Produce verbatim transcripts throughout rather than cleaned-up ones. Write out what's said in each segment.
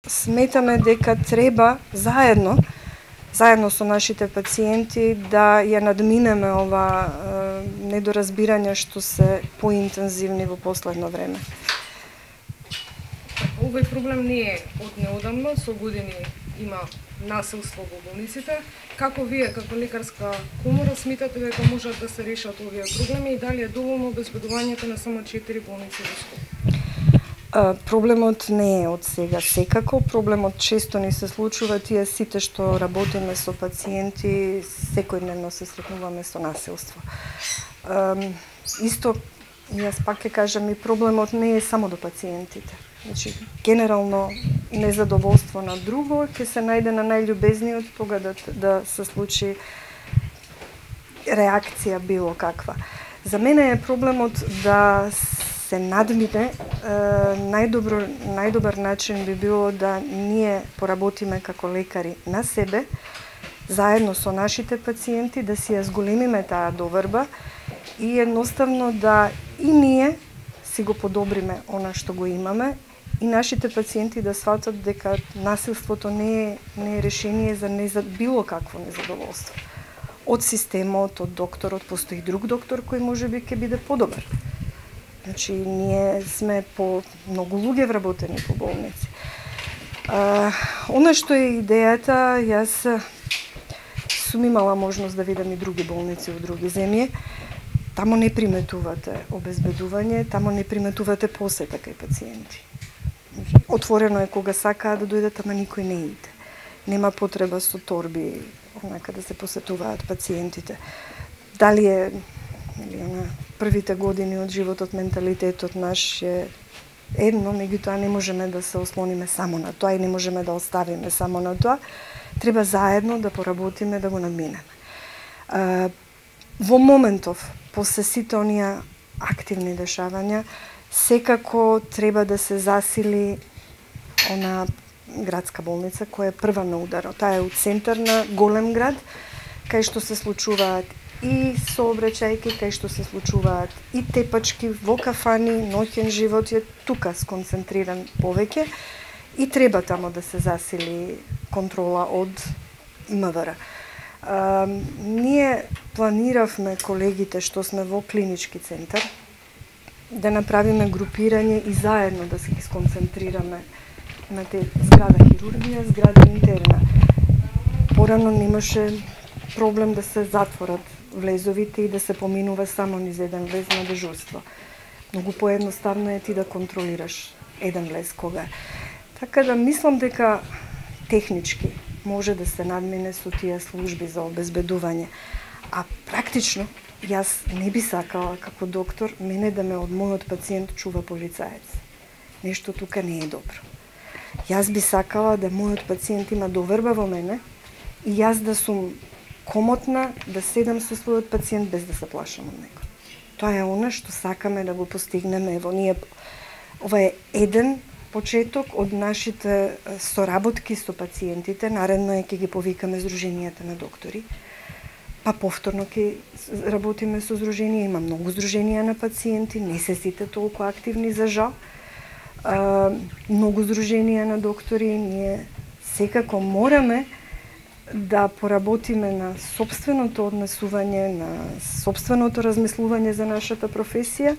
сметаме дека треба заедно заедно со нашите пациенти да ја надминеме ова е, недоразбирање што се поинтензивни во последно време. Овој проблем не е од неодамна, со години има насилство во болниците. Како вие, како лекарска комора, смитате дека можат да се решат овие проблеми и дали е доволно обезбедувањето на само четири болници во Скопје? Проблемот не е од сега секако, проблемот често ни се случува, тие сите што работиме со пациенти, секојдневно се сретнуваме со насилство. Исто, јас пак ќе кажам, и проблемот не е само до пациентите. Значи, генерално незадоволство на друго ќе се најде на најљубезниот тога да, да се случи реакција било каква. За мене е проблемот да се надмине, најдобро, најдобар начин би било да ние поработиме како лекари на себе, заедно со нашите пациенти, да си ја зголемиме таа доверба и едноставно да и ние си го подобриме она што го имаме и нашите пациенти да сватат дека насилството не е, не е решение за, не за било какво незадоволство. Од системот, од докторот, постои друг доктор кој можеби ќе биде подобар. Значи, ние сме по многу луѓе вработени по болници. А, она што е идејата, јас сум имала можност да видам и други болници во други земји. Тамо не приметувате обезбедување, тамо не приметувате посета кај пациенти. Отворено е кога сакаат да дојдат, ама никој не иде. Нема потреба со торби онака да се посетуваат пациентите. Дали е или на првите години од животот, менталитетот наш е едно, меѓутоа не можеме да се ослониме само на тоа и не можеме да оставиме само на тоа. Треба заедно да поработиме да го надминеме. Во моментов, после сите оние активни дешавања, секако треба да се засили она градска болница која е прва на ударот. Таа е у центар на голем град, кај што се случуваат и сообраќајки, кај што се случуваат и тепачки во кафани, ноќен живот е тука сконцентриран повеќе и треба тамо да се засили контрола од МВР. А, ние планиравме колегите што сме во клинички центар да направиме групирање и заедно да се ги сконцентрираме на те зграда хирургија, зграда интерна. Порано немаше проблем да се затворат влезовите и да се поминува само низ еден влез на дежурство. Многу поедноставно е ти да контролираш еден влез кога. Така да мислам дека технички може да се надмине со тие служби за обезбедување. А практично, јас не би сакала како доктор мене да ме од мојот пациент чува полицаец. Нешто тука не е добро. Јас би сакала да мојот пациент има доверба во мене и јас да сум комотна да седам со својот пациент без да се плашам од него. Тоа е она што сакаме да го постигнеме. Ево, ние, ова е еден почеток од нашите соработки со пациентите. Наредно е ќе ги повикаме Сдруженијата на доктори. Па повторно ќе работиме со здруженија. Има многу здруженија на пациенти, не се сите толку активни за жал. А, многу здруженија на доктори. Ние секако мораме да поработиме на сопственото однесување, на сопственото размислување за нашата професија,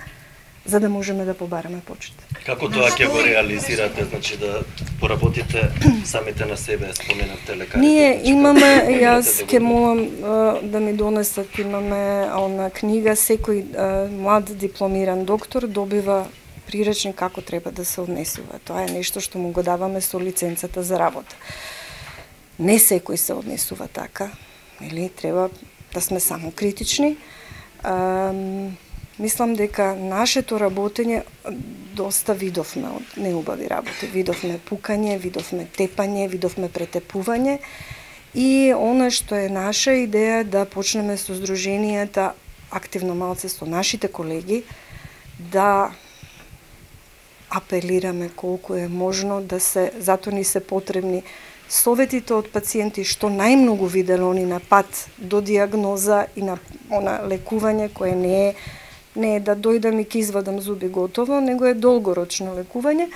за да можеме да побараме почит. Како тоа ќе го реализирате, значи да поработите самите на себе, споменавте лекарите? Ние значи, имаме, јас ќе молам да ми донесат, имаме она книга, секој млад дипломиран доктор добива приречник како треба да се однесува. Тоа е нешто што му го даваме со лиценцата за работа. Не секој се однесува така, или треба да сме само критични. А, мислам дека нашето работење доста видовме од неубави работи. Видовме пукање, видовме тепање, видовме претепување и она што е наша идеја да почнеме со здруженијата активно малце со нашите колеги да апелираме колку е можно да се, затоа ни се потребни советите од пациенти што најмногу виделе они на пат до диагноза и на она лекување кое не е не е да дојдам и ќе извадам зуби готово, него е долгорочно лекување.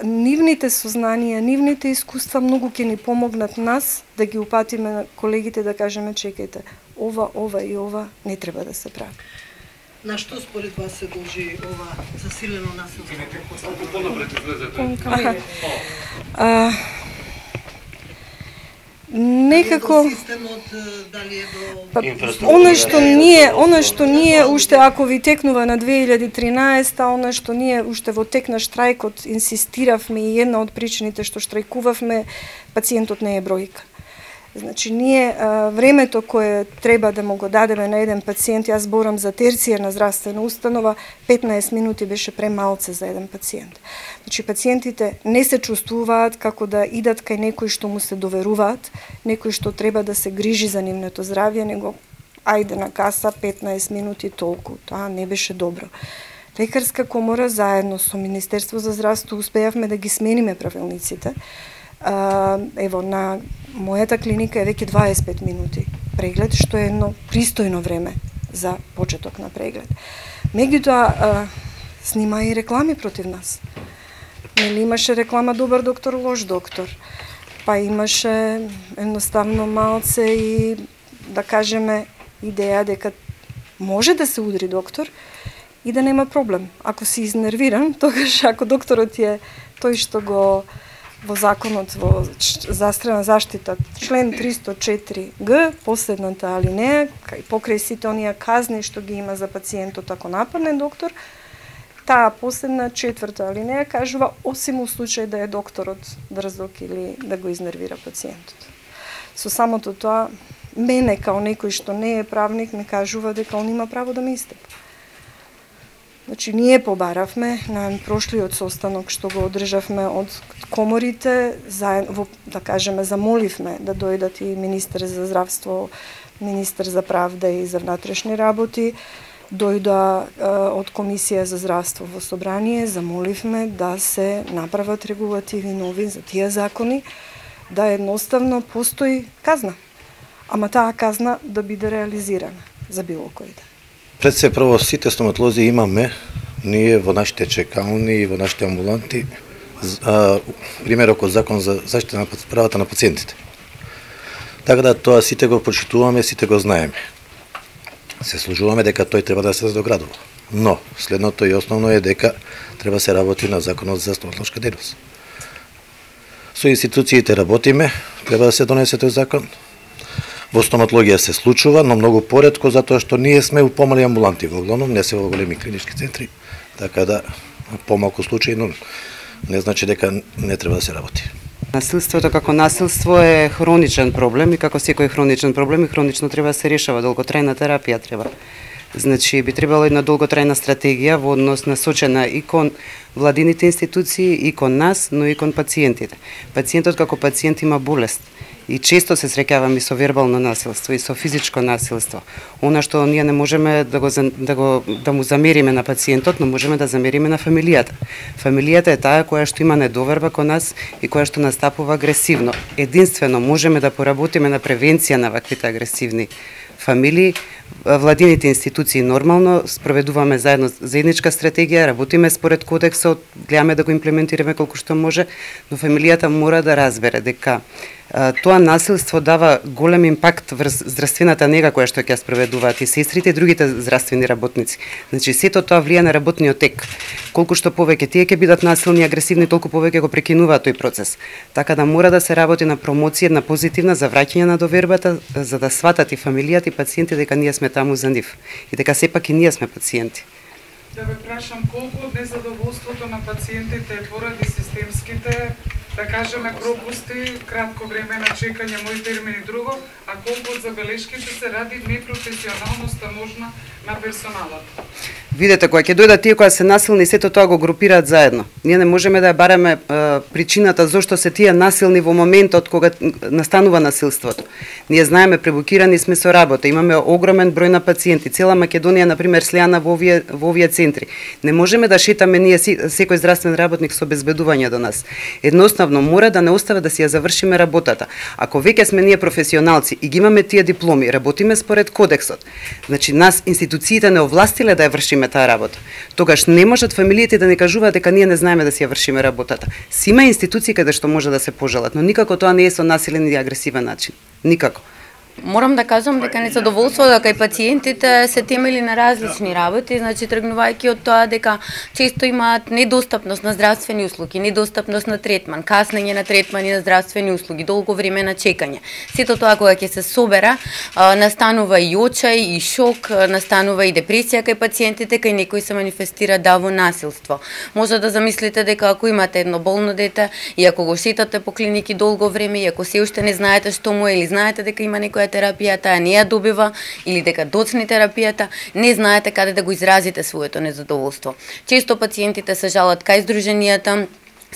нивните сознанија, нивните искуства многу ќе ни помогнат нас да ги упатиме на колегите, да кажеме чекајте, ова, ова и ова не треба да се прави. На што според вас се должи ова засилено насилство? Некако системот, дали е до па, она што ние, она што ние уште ако ви текнува на две илјади и тринаесета, она што ние уште во тек на штрајкот инсистиравме и една од причините што штрајкувавме, пациентот не е бројка. Значи, ние а, времето кое треба да му го дадеме на еден пациент, јас зборам за терцијарна здравствена установа, петнаесет минути беше премалце за еден пациент. Значи, пациентите не се чувствуваат како да идат кај некој што му се доверуваат, некој што треба да се грижи за нивното здравје, него ајде на каса петнаесет минути толку. Тоа не беше добро. Лекарска комора заедно со Министерство за здравство успеавме да ги смениме правилниците. Uh, ево, на мојата клиника е веќе дваесет и пет минути преглед, што е едно пристојно време за почеток на преглед. Меѓутоа, uh, снима и реклами против нас. Нели имаше реклама добар доктор, лош доктор. Па имаше едноставно малце и, да кажеме, идеја дека може да се удри доктор и да нема проблем. Ако си изнервиран, тогаш ако докторот е тој што го во законот во здравствена заштита, член триста и четири г, последната алинеја, кај покрај сите оние казни што ги има за пациентот ако нападне доктор, таа последна четврта алинеја кажува осим у случај да е докторот дрзок или да го изнервира пациентот. Со самото тоа, мене као некој што не е правник ми кажува дека он има право да ме истепа. Значи, ние побаравме на прошлиот состанок што го одржавме од коморите, заедно, да кажеме, замоливме да дојдат и министер за здравство, министер за правда и за внатрешни работи, дојда е, од Комисија за здравство во собрание, замоливме да се направат регулативи нови за тие закони, да едноставно постои казна. Ама таа казна да биде реализирана за било кој да. Пред се прво сите стоматолози имаме ние во нашите чекални и во нашите амбуланти а, примерок од закон за заштита на правата на пациентите. Така да тоа сите го почитуваме, сите го знаеме. Се служуваме дека тој треба да се задоградува. Но следното и основно е дека треба се работи на законот за стоматолошка дејност. Со институциите работиме, треба да се донесе тој закон. Во стоматологија се случува, но многу поретко, затоа што ние сме у помали амбуланти, во главном не се во големи клинички центри, така да помалку случаи, но не значи дека не треба да се работи. Насилството како насилство е хроничен проблем и како секој хроничен проблем и хронично треба да се решава, долготрајна терапија треба. Значи би требало една долготрајна стратегија во однос насочена и кон владините институции, и кон нас, но и кон пациентите. Пациентот како пациент има болест. И често се среќаваме со вербално насилство и со физичко насилство. Она што ние не можеме да го да го да му замериме на пациентот, но можеме да замериме на фамилијата. Фамилијата е таа која што има недоверба кон нас и која што настапува агресивно. Единствено можеме да поработиме на превенција на ваквите агресивни фамилии. Владините институции нормално спроведуваме заедно заедничка стратегија, работиме според кодексот, гледаме да го имплементираме колку што може, но фамилијата мора да разбере дека тоа насилство дава голем импакт врз здравствената нега која што ќе спроведуваат и сестрите и другите здравствени работници. Значи сето тоа влија на работниот тек. Колку што повеќе тие ќе бидат насилни и агресивни, толку повеќе го прекинуваат тој процес. Така да мора да се работи на промоција, на позитивна за враќање на довербата, за да сватат и фамилијата и пациенти дека ние сме таму за нив и дека сепак и ние сме пациенти. Да ве прашам колку од незадоволството на пациентите поради системските, да кажеме, пропусти, кратко време на чекање, мој термин и друго, а колку од забелешките се ради непрофесионалноста можна на персоналот? Видете, кога ќе дојдат тие кои се насилни, сето тоа го групираат заедно. Ние не можеме да ја бараме е, причината зошто се тие насилни во моментот кога настанува насилството. Ние знаеме, пребукирани сме со работа, имаме огромен број на пациенти. Цела Македонија, например, слеана во овие, во овие центри. Не можеме да шетаме ние секој здравствен работник со обезбедување до нас. Едноставно мора да не остава да си ја завршиме работата. Ако веќе сме ние професионалци и ги имаме тие дипломи, работиме според кодексот. Значи нас институциите не овластиле да ја вршиме вршиме таа работа. Тогаш не можат фамилиите да не кажуваат дека ние не знаеме да си ја вршиме работата. Си има институции каде што може да се пожалат, но никако тоа не е со насилен и агресивен начин. Никако. Морам да кажам дека незадоволството кај пациентите се темели на различни работи, значи тргнувајќи од тоа дека често имаат недостапност на здравствени услуги, недостапност на третман, каснење на третман и на здравствени услуги, долго време на чекање. Сето тоа кога ќе се собера, настанува и очај, и шок, настанува и депресија кај пациентите, кај некои се манифестира даво насилство. Може да замислите дека ако имате едно болно дете и ако го шетате по клиники долго време и ако се уште не знаете што му е или знаете дека има некоја терапијата, а не ја добива, или дека доцни терапијата, не знаете каде да го изразите своето незадоволство. Често пациентите се жалат кај здруженијата,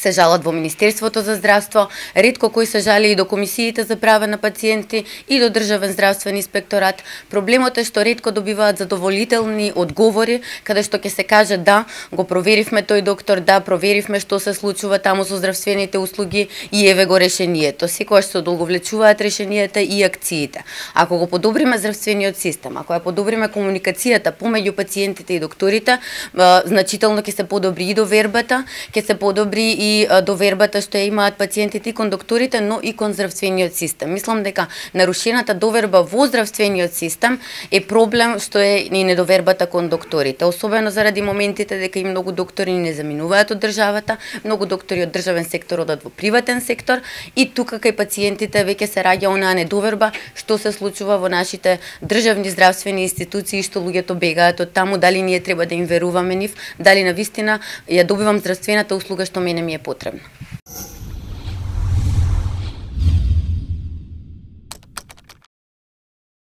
се жалат во Министерството за здравство, ретко кои се жали и до комисиите за права на пациенти и до Државен здравствен инспекторат. Проблемот е што ретко добиваат задоволителни одговори, каде што ќе се каже да, го проверивме тој доктор, да, проверивме што се случува таму со здравствените услуги и еве го решението. Секогаш се одолговлечуваат решенијата и акциите. Ако го подобриме здравствениот систем, ако ја подобриме комуникацијата помеѓу пациентите и докторите, значително ќе се подобри и довербата, ќе се подобри и довербата што ја имаат пациентите и кон докторите, но и кон здравствениот систем. Мислам дека нарушената доверба во здравствениот систем е проблем што е и недовербата кон докторите, особено заради моментите дека и многу доктори не заминуваат од државата, многу доктори од државен сектор одат во приватен сектор и тука кај пациентите веќе се раѓа онаа недоверба што се случува во нашите државни здравствени институции, што луѓето бегаат од таму, дали ние треба да им веруваме нив, дали навистина ја добивам здравствената услуга што мене ми е потребна.